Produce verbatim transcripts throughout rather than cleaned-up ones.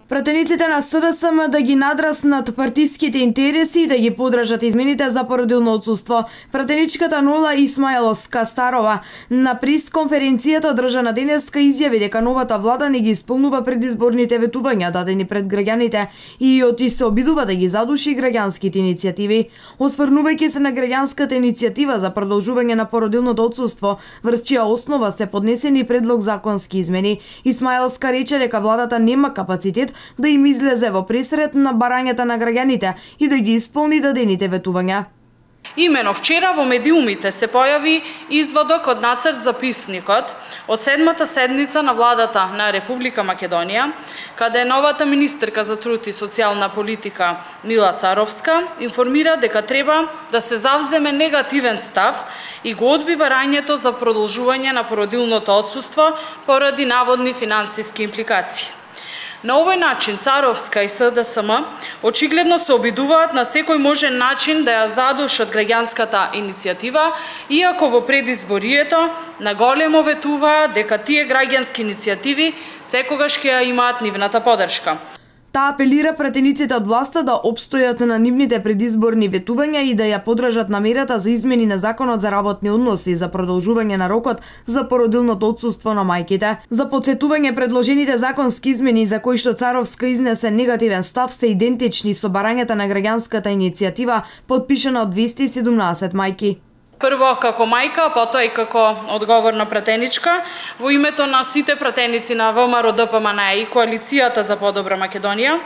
Пратениците на С Д С М да ги надраснат партиските интереси и да ги подржат измените за породилно отсуство. Пратеничката Нола Исмаиловска Старова на пресконференцијата одржана денеска изјави дека новата влада не ги исполнува предизборните ветувања дадени пред граѓаните и оти се обидува да ги задуши граѓанските иницијативи. Осврнувајќи се на граѓанската иницијатива за продолжување на породилното отсуство, врз чија основа се поднесени предлог законски измени, Исмаиловска рече дека владата нема капацитет да им излезе во пресрет на барањата на граѓаните и да ги исполни дадените ветувања. Имено вчера во медиумите се појави изводок од нацрт записникот од седмата седница на владата на Република Македонија, каде новата министерка за труд и социјална политика Мила Царовска информира дека треба да се завземе негативен став и го одби барањето за продолжување на породилното отсуство поради наводни финансиски импликации. На овој начин Царовска и С Д С М очигледно се обидуваат на секој можен начин да ја задушат граѓанската иницијатива, иако во предизборието наголемо ветуваат дека тие граѓански иницијативи секогаш ќе ја имаат нивната поддршка. Таа апелира пратениците од власта да опстојат на нивните предизборни ветувања и да ја поддржат намерата за измени на Законот за работни односи за продолжување на рокот за породилното отсуство на мајките. За потсетување, предложените законски измени за кои што Царовска изнесе негативен став се идентични со барањата на граѓанската иницијатива подпишана од двесте и седумнаесет мајки. Прво како мајка, потоа и како одговорна пратеничка, во името на сите пратеници на В М Р Д П М Н Е и Коалицијата за подобра Македонија,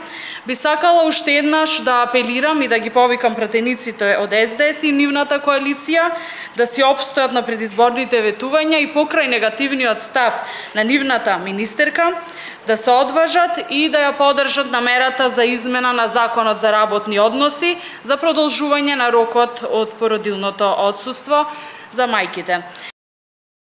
би сакала уште еднаш да апелирам и да ги повикам пратениците од С Д С и нивната коалиција да си опстојат на предизборните ветувања и покрај негативниот став на нивната министерка, да се одважат и да ја поддржат намерата за измена на Законот за работни односи за продолжување на рокот од породилното отсуство за мајките.